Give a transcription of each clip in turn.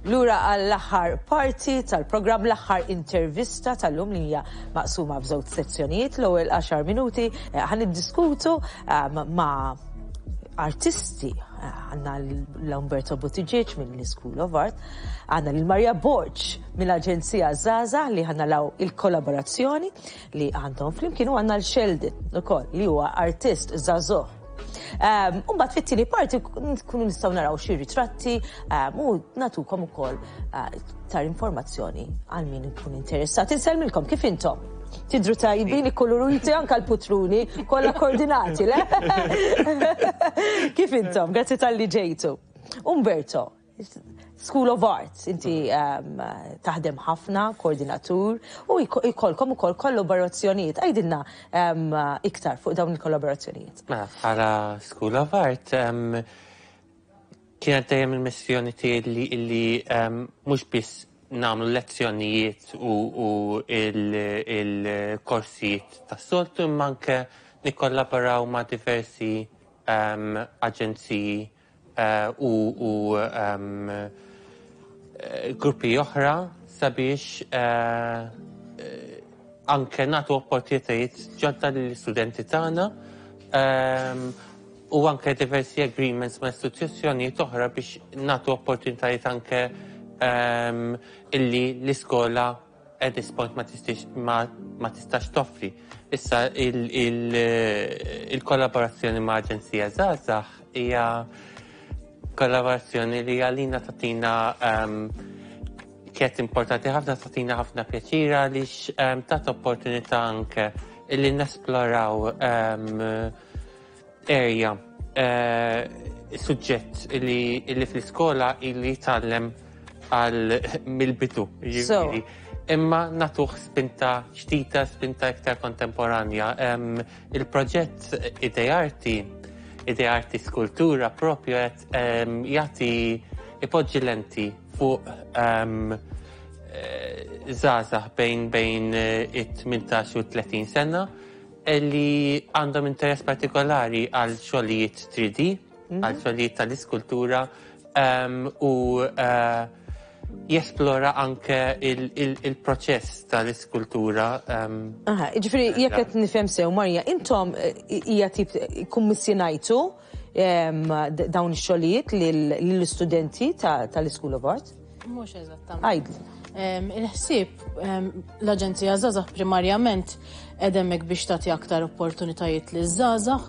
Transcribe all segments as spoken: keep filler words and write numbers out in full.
Lura għall-aħħar parti tal-programm, l-aħħar intervista tal-lum li hija maqsuma f'żewġ sezzjonijiet. L-ewwel għaxar minuti eh, ħa niddiskutu eh, ma' artisti. Għandna l-Umberto Buttigieg mill-School of Art, għandna l-Maria Borg mill-Aġenzija Żgħażagħ li ħa naraw il-kollaborazzjoni li għandhom flimkien, u għandna l-Sheldon ukoll li huwa artist żagħżugħ. Um, Umbagħad fit-tieni parti nkunu nistgħu naraw xi ritratti um, u nagħtukom ukoll uh, iktar informazzjoni għal min ikun interessat. Insellmilkom, kif intom? Tidru tajbin, ikkoloriti, anka l-putruni, kollha koordinati, le? Kif intom? Grazzi talli ġejtu. Umberto, School of Arts, inti um, taħdem ħafna, koordinatur, u jkollkom ukoll kollaborazzjonijiet. Għidilna um, iktar fuq dawn il-kollaborazzjonijiet. Mela, bħala School of Art, um, kienet dejjem il-missjoni tiegħi li, li um, mhux biss nagħmlu lezzjonijiet u, u il-korsijiet il tas-soltu, imma anke nikkollaboraw ma' diversi um, aġenziji uh, u, u um, gruppi oħra sabiex uh, anke nagħtu opportunitajiet ġodda lill-istudenti tagħna um, u anke diversi agreements ma' istituzzjonijiet oħra biex nagħtu opportunitajiet anke um, illi l-iskola at this point ma tistax ma, ma tistax toffri. Issa il-kollaborazzjoni il, ma' Aġenzija Żgħażagħ hija kollaborazzjoni li għalina tagħtina um, kienet importanti ħafna, tagħtina ħafna pjaċira għaliex um, tat opportunità anke illi nesploraw um, area, uh, suġġett illi, illi fl-iskola illi jitgħallem għal mill-bidu. Jiġifieri. Imma nagħtuh spinta ġdida, spinta iktar kontemporanja. Em, Il-proġett Idearti, Idearti Skultura propju qed em, jagħti, ipoġġi lenti fuq em, eh, żgħażagħ bejn bejn eh, it-tmintax u tletin sena li għandhom interess partikolari għal xogħlijiet three D, għal xogħlijiet tal-iskultura em, u eh, jesplora anke il-proċess tal-iskultura. em, Aha, ġifieri, jekk qed nifhem sew, Marja, intom eh, hija tip kummissjonajtu em, d- dawn ix-xogħlijiet lill-istudenti ta- tal-School of Art? Mhux eżattament. Għidli. Em, Il-ħsieb, em, l-Aġenzija Żgħażagħ primarjament hemmhekk biex tagħti aktar opportunitajiet liż-żgħażagħ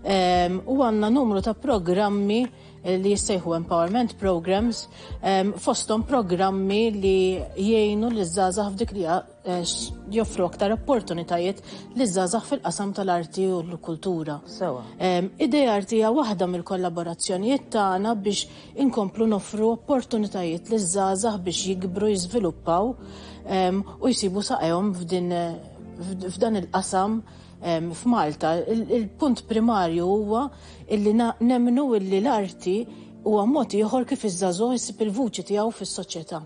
em, u għandna numru ta' programmi li jissejħu Empowerment Programs, em, fosthom programmi li jgħinu liż-żgħażagħ f'dik li eh, x- joffru aktar opportunitajiet liż-żgħażagħ fil-qasam tal-arti u l-kultura. Sewa. Em, Idearti hija waħda mill-kollaborazzjonijiet tagħna biex inkomplu noffru opportunitajiet liż-żgħażagħ biex jikbru, jiżviluppaw em, u jsibu saqajhom f'din f'dan il-qasam em, f'Malta. Il- Il-punt primarju huwa illi na- nemmnu illi l-arti huwa mod ieħor kif iż-żagħżugħ isib il-vuċi tiegħu fis-soċjetà.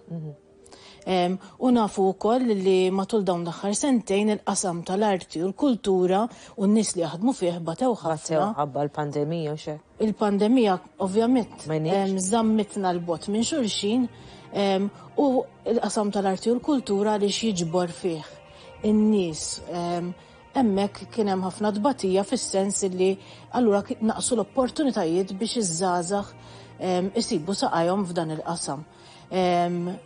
Em, U nafu wkoll li matul dawn l-aħħar sentejn il-qasam tal-arti u l-kultura u n-nies li jaħdmu fih batew Batew ħafna. ħabba l-pandemija u xe. Il-pandemija ovvjament Ma jniex. em, żammitna 'l bogħod minn xulxin em, u l-qasam tal-arti u l-kultura li jiġbor fih in-nies. em, Hemmhekk kien hemm ħafna tbatija fis-sens li allura ki- naqsu l-opportunitajiet biex iż-żgħażagħ em, isibu saqajhom f'dan il-qasam. Em,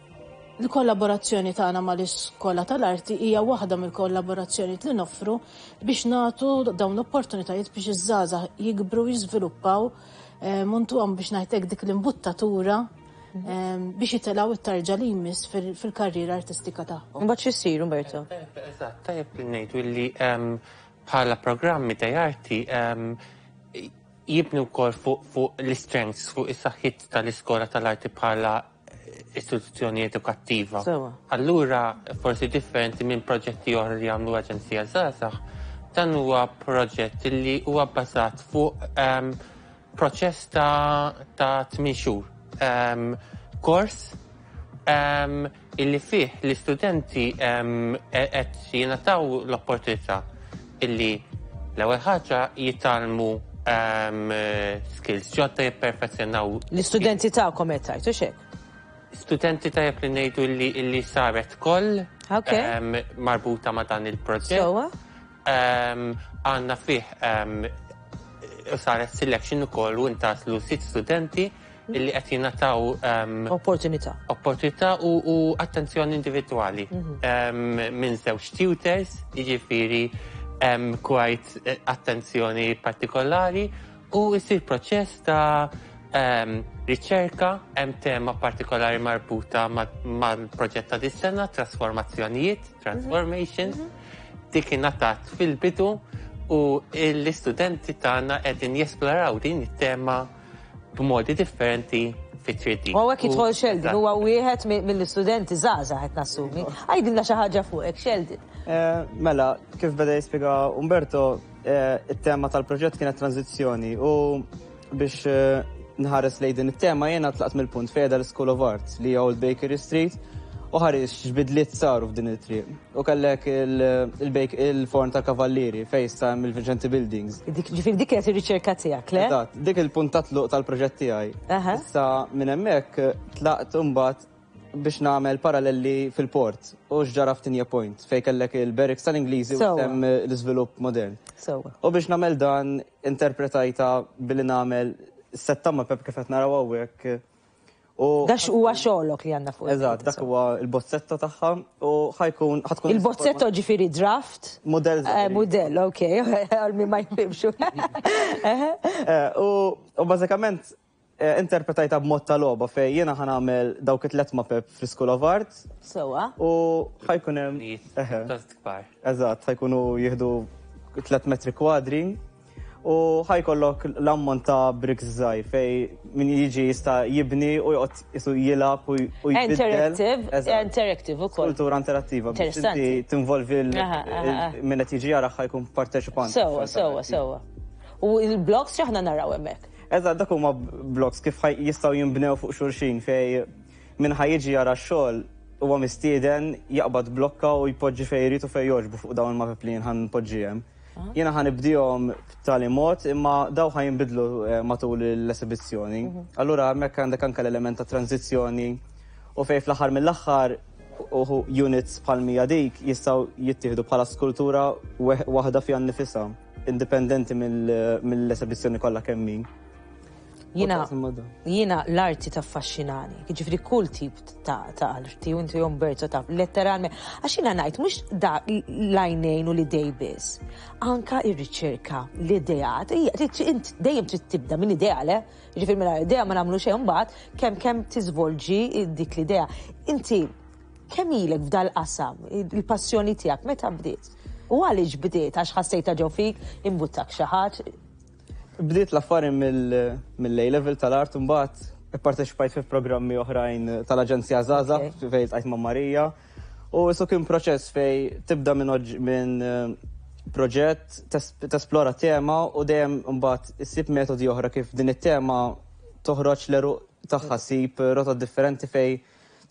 Il-kollaborazzjoni tagħna mal-Iskola tal-Arti hija waħda mill-kollaborazzjoni li noffru biex nagħtu dawn l-opportunitajiet biex iż-żgħażagħ jikbru, jiżviluppaw em, u ntuhom, biex ngħidlek, dik l-imbuttatura em, biex jitilgħu it-tarġa li jmiss fil- fil-karriera artistika tagħhom. Mbagħad x'issir, Umberto? Eżatt, tajjeb li ngħidu li em, bħala programmi ta' arti em, jibnu wkoll fuq fuq l-strengths, fuq is-saħħit tal-iskola tal-arti bħala istituzzjoni edukattiva. Sewa. Allura, forsi differenti minn proġetti oħra li għamlu Aġenzija Żgħażagħ, dan huwa proġett li huwa bbażat fuq em, proċess ta' ta' tmien xhur. Em, Kors um, illi fih l-istudenti um, qed jingħataw l-opportunità illi l-ewwel ħaġa jitgħallmu um, skills ġodda, jipperfezzjonaw L-istudenti tagħkom qed tgħid, u xek? Studenti, tajjeb li ngħidu li, li saret koll Ok. em, marbuta ma' dan il-proġett. Sewwa. Em, Għandna fih em, u saret selection ukoll u intgħażlu sitt studenti illi qed jingħataw em, Opportunità. Opportunità u, u attenzjoni individwali um, minn żewġ tutors, jiġifieri um, quite eh, attenzjoni partikolari, u jsir proċess ta' um, riċerka. Hemm tema partikolari marbuta ma- mal-proġett ta' dis-sena, trasformazzjonijiet, transformations, dik ingħatat fil-bidu u l-istudenti tagħna qegħdin jesploraw din it-tema b'modi differenti fi three D. U hawnhekk jidħol Sheldon, Eżatt. huwa wieħed mi- mill-istudenti żgħażagħ qed nassumi. Għidilna xi ħaġa fuqek, Sheldon. Eh, Mela, kif beda jispjega Umberto, eh, it-tema tal-proġett kienet tranzizzjoni u biex eh, nħares lejn din it-tema jiena tlaqt mill-punt fejn l-School of Arts li hija Old Bakery Street u ħares x'bidliet saru f'din it-triq. U kellek il-forn tal-Kavallieri fejn issa hemm il-Vincenti Buildings. Dik ġifieri dik kienet ir-riċerka tiegħek, le? Eżatt, dik il-punt ta' tluq tal-proġett tiegħi. Aha. Issa minn hemmhekk tlaqt imbagħad biex nagħmel paralleli fil-port u x'ġara f'Tigne Point fejn kellek il-barracks tal-Ingliżi u Sewwa. hemm l-iżvilupp modern. Sewwa. U biex nagħmel dan, interpretajta billi nagħmel sett ta' mapep kif qed naraw hawnhekk. U Dax huwa xogħlok li għandna fuq. Eżatt, dak huwa il-bozzetto tagħha u ħa jkun ħa tkun Il-bozzetto ġifieri draft? Modell Eh, żgħir. Modell, ok, għal min ma jifhimx. Eh, U u bażikament eh, interpretajta b'mod ta' logħba fejn jiena ħa nagħmel dawk it-tlet mapep fl-School of Arts Sewwa. u ħa jkun hemm eħe, Tost kbar. Eżatt, ħa jkunu jieħdu tliet metri kwadri u ħa jkollok l-ammont ta' bricks żgħir fejn min jiġi jista' jibni u joqgħod isu jilgħab u u jbiddel. Interactive, Eżatt. Interactive ukoll. Kultura interattiva biex Interessanti. inti tinvolvi l- Aha, aha, aha. il- min qed jiġi jara ħa jkun parteċipant. Sewwa, sewwa, sewwa. U il-blocks x'aħna naraw hemmhekk? Eżatt, dak huma blocks kif ħaj- jistgħu jinbnew fuq xulxin fejn min ħa jiġi jara x-xogħol huwa mistieden jaqbad blokka u jpoġġi fejn jrid u fejn jogħġbu fuq dawn il-mapep li jien ħa npoġġi hemm. Jiena ħa nibdihom b'tali mod imma daw ħa jinbidlu eh, matul l-esibizzjoni. Allura hemmhekk għandek anke l-element ta' tranzizzjoni u fejn fl-aħħar mill-aħħar uħu units bħal mija dik jistgħu jittieħdu bħala skultura weħ- waħda fiha nnifisha, indipendenti mill- mill-esibizzjoni kollha kemm hi. Jiena U taqsam ma' dan. Jiena l-arti taffaxxinani, ġifieri kull tip ta' ta' arti, u inti, Umberto, taf, letteralment, għax jiena ngħid mhux da l-għajnejn u l-idej biss, anka ir-riċerka, l-ideat, hija- trid- int dejjem trid tibda minn idea, le? Ġifieri minn idea ma nagħmlu xejn, mbagħad kemm kemm tiżvolġi dik l-idea. Inti kemm ilek f'dal-qasam, il-passjoni tiegħek meta bdiet? U għaliex bdiet? Għax ħassejta ġo fik, imbuttak xi ħadd? Bdiet l-affari mill-A level tal-art, mbagħad ipparteċipajt fi programmi oħrajn tal-Aġenzija Żgħażagħ Ok. fejn iltqajt ma' Marija. U isu kien proċess fejn tibda minn oġ- minn eh, proġett, tes- tesplora tema u dejjem mbagħad issib metodi oħra kif din it-tema toħroġ l-għeruq tagħha, ssib rotot differenti fejn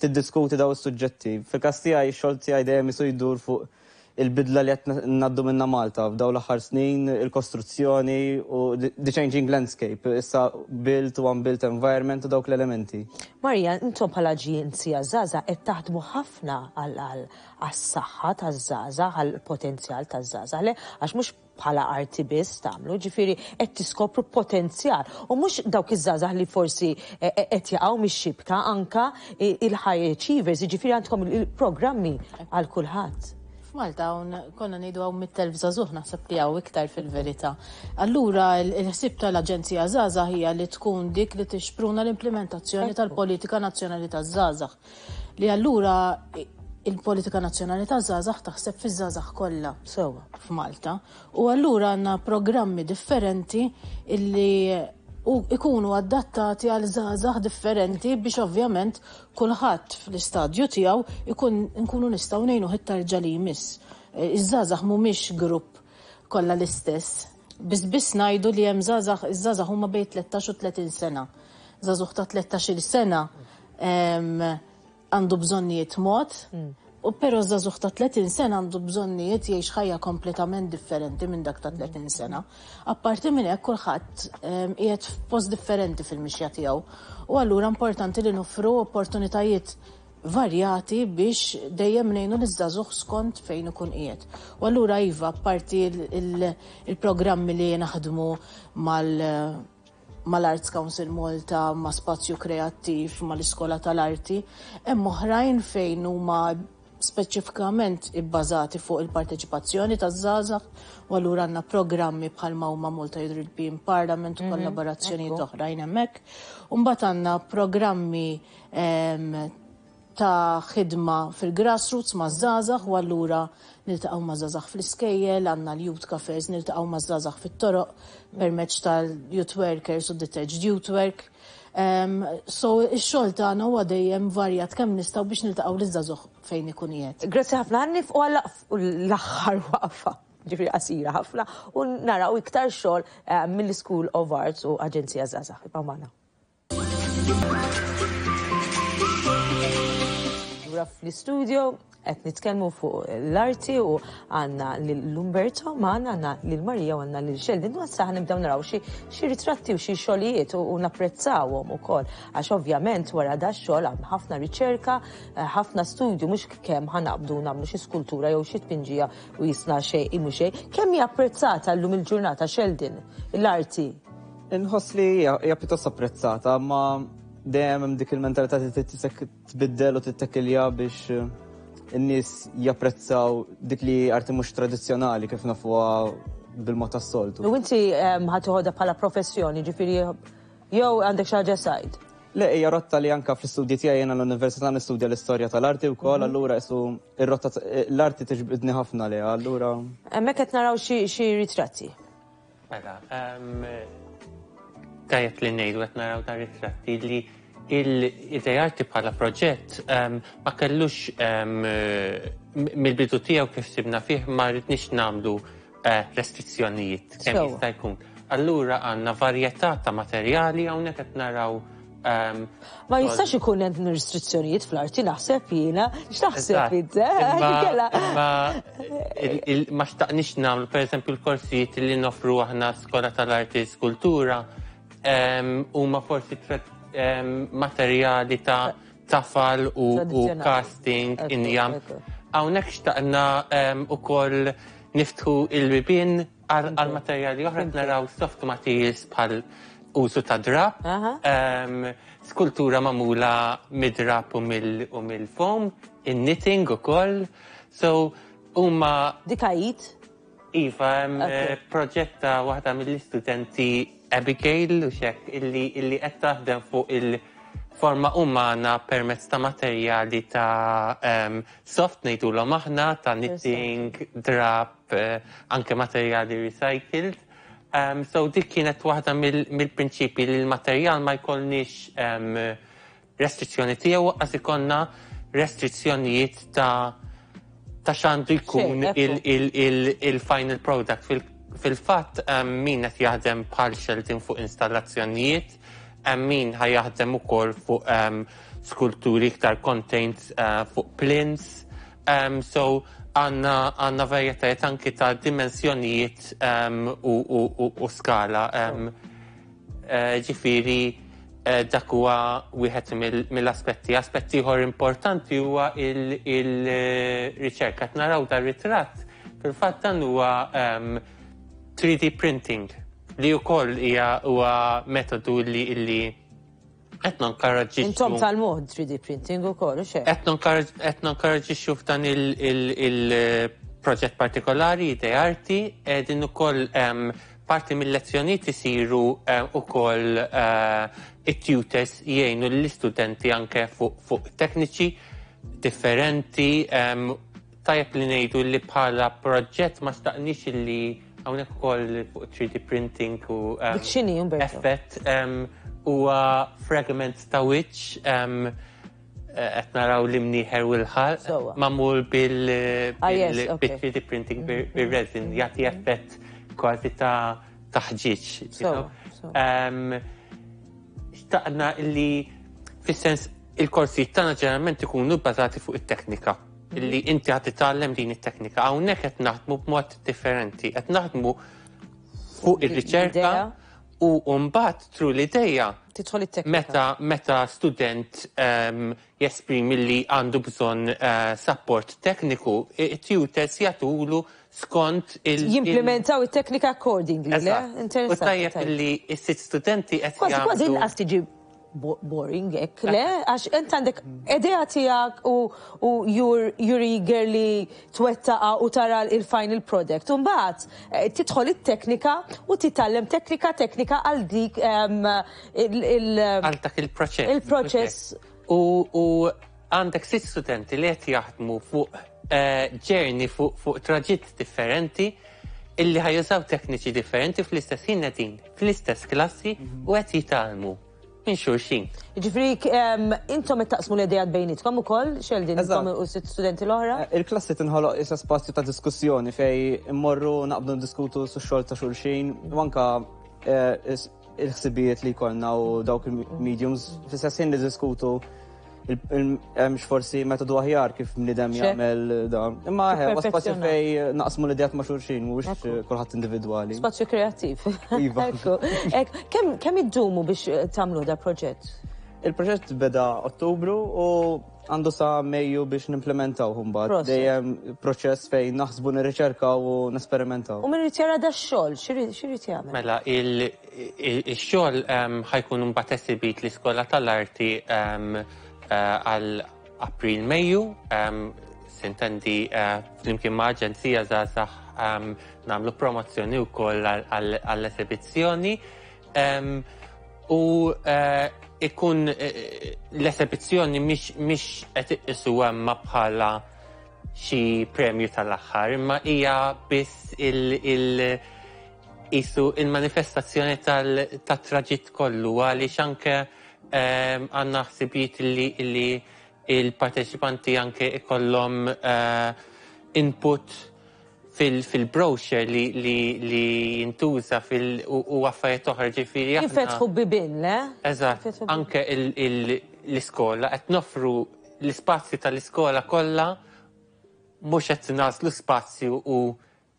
tiddiskuti daw is-suġġetti. Fil-każ tiegħi, x-xogħol tiegħi dejjem isu jdur fuq il-bidla li qed ngħaddu minna Malta f'daw l-aħħar snin, il-kostruzzjoni u the the changing landscape, issa built u unbuilt environment u dawk l-elementi. Marija, intom bħala Aġenzija Żgħażagħ qed taħdmu ħafna għal għas-saħħa taż-żgħażagħ, għall-potenzjal taż-żgħażagħ, le? Għax mhux bħala arti biss tagħmlu, ġifieri qed tiskopru potenzjal. U mhux dawk iż-żgħażagħ li forsi eh, eh, qed jaqgħu mix-xibka, anka il-high achievers, ġifieri għandkom il-programmi għal kulħadd. F'Malta hawn konna ngħidu hawn mitt elf żagħżugħ, naħseb li hawn iktar fil-verità. Allura il-ħsieb tal-Aġenzija Żgħażagħ hija li tkun dik li tixpruna l-implementazzjoni tal-politika nazzjonali taż-żgħażagħ. Li allura il-politika nazzjonali taż-żgħażagħ taħseb fiż-żgħażagħ kollha Sewwa. f'Malta. U allura għandna programmi differenti illi u ikunu adattati għal żgħażagħ differenti biex ovvjament kulħadd fl-istadju tiegħu ikun nkunu nistgħu ngħinu it-tarġa li jmiss. Eh, Iż-żgħażagħ mhumiex grupp kollha l-istess. Biss biss ngħidu li hemm żgħażagħ, iż-żgħażagħ huma bejn tlettax u tletin sena. Żagħżugħ ta' tlettax-il sena em, għandu bżonnijiet mod U però żagħżugħ ta' tletin sena għandu bżonnijiet, jgħix ħajja kompletament differenti minn dak ta' tletin sena. Apparti minn hekk, kulħadd qiegħed f'post differenti fil-mixja tiegħu. U allura importanti li noffru opportunitajiet varjati biex dejjem ngħinu l-żagħżugħ skont fejn ikun qiegħed. U allura iva, apparti il-programmi li naħdmu mal mal-Arts Council Malta, ma' Spazju Kreattiv, mal-Iskola tal-Arti, hemm oħrajn fejn huma speċifikament ibbażati fuq il-parteċipazzjoni taż-żgħażagħ, u allura għandna programmi bħalma huma Malta European Parliament u kollaborazzjonijiet oħrajn hemmhekk. U mbagħad għandna programmi ta' ħidma fil-grassroots ma' żgħażagħ, u allura niltaqgħu ma' żgħażagħ fl-iskejjel, għandna l-youth cafes, niltaqgħu ma' żgħażagħ fit-toroq permezz tal-youth workers u detached youth work. Um, so ix-xogħol tagħna huwa dejjem varjat kemm nistgħu biex niltaqgħu liż-żagħżugħ fejn ikun qiegħed. Grazzi ħafna, ħa nieqfu għal l-aħħar waqfa, ġifieri qasira ħafna, u naraw iktar xogħol eh, mill-School of Arts u Aġenzija Żgħażagħ. Ibqgħu magħna. Lura fl-istudio qed nitkellmu fuq l-arti u għandna lil Umberto magħna, għandna lil Marija u għandna lil Sheldon. U issa nibdew naraw xi xi ritratti u xi xogħlijiet u u napprezzawhom ukoll, għax ovvjament wara da xogħol hemm ħafna riċerka, eh, ħafna studju, mhux kemm ħa naqbdu nagħmlu xi skultura jew xi tpinġija u jisna xejn imu xejn. Kemm hija apprezzata llum il-ġurnata, Sheldon, l-arti? Inħoss li hija hija pjuttost apprezzata, ma dejjem hemm dik il-mentalità li trid tisek tbiddel u tittekilja biex eh, in-nies japprezzaw dik li arti mhux tradizzjonali kif nafuha bil-mod tas-soltu. U inti em, ħa toħodha bħala professjoni, ġifieri, jew għandek xi ħaġa side? Le, hija rotta li anka fl-istudji tiegħi, jiena l-università nistudja l-istorja tal-arti wkoll, allura isu ir-rotta l-arti tiġbidni ħafna liha, allura Hemmhekk qed naraw xi xi ritratti. Mela, em, tajjeb li ngħidu qed naraw ta' ritratti li il-Idearti bħala proġett em, ma kellux em, mill-bidu tiegħu, kif sibna fih, ma rridniex nagħmlu eh, restrizzjonijiet kemm Sewwa. jista' jkun. Allura għandna varjetà ta' materjali, hawnhekk qed naraw em, Ma jistax ikun hemm restrizzjonijiet fl-arti, naħseb jiena, x'taħseb Eżatt. int? eh? Imma- Kella. imma il- il- ma xtaqniex nagħmlu, pereżempju, l-korsijiet li nofru aħna Skola tal-Arti Skultura em, huma forsi tre- em, materjali ta' tafal u, u Tradizzjonali. casting, Ekku, injam. ekku. Hawnhekk xtaqna em, ukoll niftħu il-bibien għal għal materjali oħra. Naraw soft materials bħal użu ta' drap, Aha. em, skultura magħmula mid-drap u mill- u mill-foam, in-knitting ukoll. So huma Dik għajt? Iva, hemm Ok. eh, proġett ta' waħda mill-istudenti, Abigail, u xek, illi illi qed taħdem fuq il-forma umana permezz ta' materjali ta' um, soft, ngħidulhom aħna, ta' knitting, drap, eh, anke materjali recycled. Um, so dik kienet waħda mill- mill-prinċipi li l-materjal ma jkollniex um, restrizzjoni tiegħu, għax ikollna restrizzjonijiet ta' ta' x'għandu jkun Xejn, ekku. il- il- il- il-final product. Fil- Fil-fatt, um, min qed jaħdem bħal Sheldon fuq installazzjonijiet, um, min ħa jaħdem ukoll fuq um, skulturi iktar contained uh, fuq plinths. Um, so għandna għandna varjetajiet anki ta' dimensjonijiet um, u, u, u, u skala. Um, eh, ġifieri eh, dak huwa wieħed mill- mill-aspetti. Aspetti ieħor importanti huwa il-riċerka. Qed naraw dar ritratt, fil-fatt dan huwa um, three D printing, li wkoll hija huwa metodu li illi qed nonkoraġġixxu. Intom tal-mod three D printing ukoll, u xejn? Qed nonkoraġġixxu f'dan il-proġett partikolari Idearti, din ukoll em, parti mill-lezzjonijiet isiru em, ukoll eh, it-tutors jgħinu l-istudenti anke fuq fuq tekniċi differenti. em, Tajjeb li ngħidu li bħala proġett ma xtaqniex li hawnhekk ukoll fuq three D printing u em, Dik x'inhi, Umberto? effett em, huwa fragment ta' wiċċ, em, qed naraw l-imnieħer u l-ħalq Sewwa. magħmul bil Ah, yes, bil- okay. bil three D printing, bil-resin, jagħti effett kważi ta' taħġiġ. you Sewwa, know. sewwa. Em, Xtaqna illi fis-sens il-korsijiet tagħna ġeneralment ikunu bbażati fuq it-teknika. Li inti ħa titgħallem din it-teknika. Hawnhekk qed naħdmu b'mod differenti, qed naħdmu fuq ir-riċerka u mbagħad through l-idea tidħol it-teknika. Meta meta student um, jesprimi li għandu bżonn uh, support tekniku, it-tutors jagħtulu skont il- Jimplementaw it-teknika accordingly, le? Eżatt. U Interessanti. tajjeb tajjeb. li s-sitt studenti qed Kważi kważi jagħmlu inqas tiġi bo- boring hekk, le? Għax int għandek idea tiegħek u u you're, you're eager li twettaqa u tara il-final product. U mbagħad eh, tidħol it-teknika u titgħallem teknika teknika għal dik em, il- il- għal dak il-proċess. Il-proċess. U, u għandek sitt studenti li qed jaħdmu fuq eh, journey, fuq fuq traġitt differenti illi ħa jużaw tekniċi differenti, fl-istess ħin qegħdin fl-istess klassi u qed jitgħallmu minn xulxin. Ġifieri, em, intom qed taqsmu l-idejat bejnietkom ukoll, Sheldon, Eżatt. intom u sitt studenti l-oħra? Eh, Il-klassi tinħoloq issa spazju ta' diskussjoni fej immorru naqbdu ndiskutu su xogħol ta' xulxin u anka eh, is- il-ħsibijiet li jkollna u dawk il-mediums fl-istess ħin li diskutu hemmx forsi metodu aħjar kif bniedem Xe? jagħmel dan. Imma eh, huwa spazju Perfezzjonat. fej naqsmu l-idejat ma' xulxin, mhuwiex kulħadd individwali. Spazju kreattiv. Iva. Ekku. Ek, Kemm kemm iddumu biex eh, tagħmlu da proġett? Il-proġett beda Ottubru u għandu sa Mejju biex nimplementaw mbagħad. Proset. Dejjem proċess fejn naħsbu, nirriċerkaw u nesperimentaw. U min irid jara da xogħol, x'irid jagħmel? Mela, il- il- il-xogħol em, ħa jkun mbagħad esibit l-Iskola tal-Arti em, eh, għal April Mejju, em, sintendi eh, flimkien ma' Aġenzija Żgħażagħ em, nagħmlu promozzjoni wkoll għall- għall-esibizzjoni. Em, U eh, ikun eh, l-esibizzjoni mhix mhix qed iqisu hemma bħala xi premju tal-aħħar, imma hija biss il- il- isu il-manifestazzjoni tal-traġitt kollu, għaliex anke ehm, għandna ħsibijiet li, li il-parteċipanti anke ikollhom eh, input fil-brochure li, li, li jintuża fil- u, u affarijiet oħra, ġifieri aħna- Jinfetħu bibien, le? Eżatt, Jinfetħu bibien. Anke il- il- l-iskola, qed noffru l-ispazju tal-iskola kollha, mhux qed nagħżlu spazju u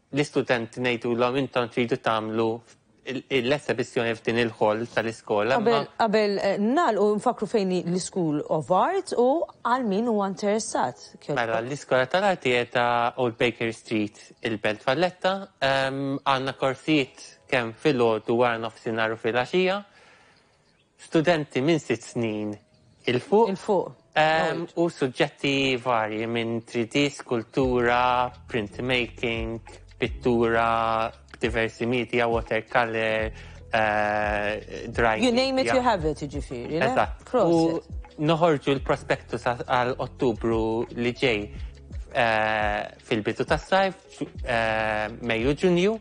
l-istudenti ngħidulhom intom tridu tagħmlu l-esibizzjoni f'din il-hall tal-iskola. Qabel imma- qabel eh, nagħlqu nfakru fejn hi l-School of Art u għal min huwa interessat. Mela, l-Iskola tal-Arti qiegħda Old Baker Street, il-Belt Valletta. Em, Għandna korsijiet kemm filgħodu, wara nofsinhar u filgħaxija. Studenti minn sitt snin 'il fuq. 'Il fuq. Em, u suġġetti varji minn three D, skultura, printmaking, pittura, diversi media, watercolor, uh, dry You name it, media. you have it, ġifieri, le? Eżatt. U Proset. noħorġu l-prospektus għal Ottubru li ġej eh, fil-bidu tas-sajf, eh, Mejju, Ġunju,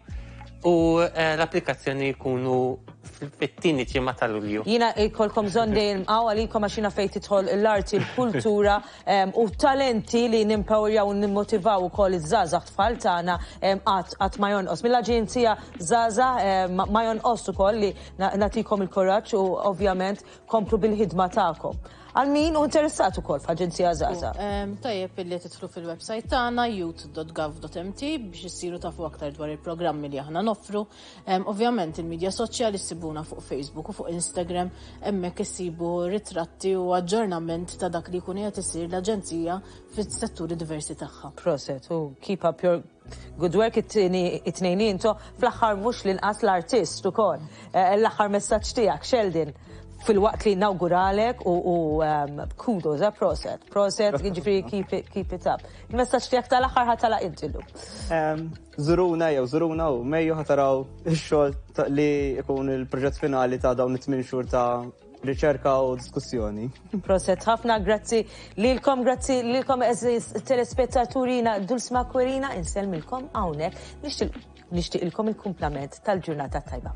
u eh, l-applikazzjoni jkunu fit-tieni ġimgħa ta' Lulju. Jiena jkollkom bżonn dejjem hawn għalikom għax jiena fejn tidħol l-arti, l-kultura em, u talenti li nimpowerjaw u nimmotivaw ukoll iż-żgħażagħ tfal tagħna em, qatt qatt ma jonqos. Mill-Aġenzija Żgħażagħ em, ma ma jonqos ukoll li na- nagħtikom il-kuraġġ u ovvjament komplu bil-ħidma tagħkom. Għal min hu interessat ukoll f'Aġenzija Żgħażagħ. Em, Tajjeb illi tidħlu fil-website tagħna youth dot gov dot M T biex issiru tafu aktar dwar il-programmi li aħna noffru. Em, Ovvjament il-medja soċjali ssibuna fuq Facebook u fuq Instagram, hemmhekk issibu ritratti u aġġornament ta' dak li jkun qed isir l-aġenzija fis-setturi diversi tagħha. Proset, u keep up your good work it-tieni it-tnejn li intom. Fl-aħħar mhux l-inqas l-artist ukoll. Eh, L-aħħar messaġġ tiegħek, Sheldon, filwaqt li nawguralek u, u um, kudos, eh, proset, proset, ġifieri keep it, keep it up. Il-messaġġ tiegħek tal-aħħar ħa tagħlaq inti llum. Em, Żuruna jew żuruna u Mejju ħa taraw ix-xogħol ta- li jkun il-proġett finali ta' dawn it-tmien xhur ta' riċerka u diskussjoni. Proset ħafna, grazzi lilkom, grazzi lilkom għeżież telespettaturi, jiena Dulce Maquerina, insellmilkom hawnhekk, nixtieq nixtieqilkom il-kumplament tal-ġurnata tajba.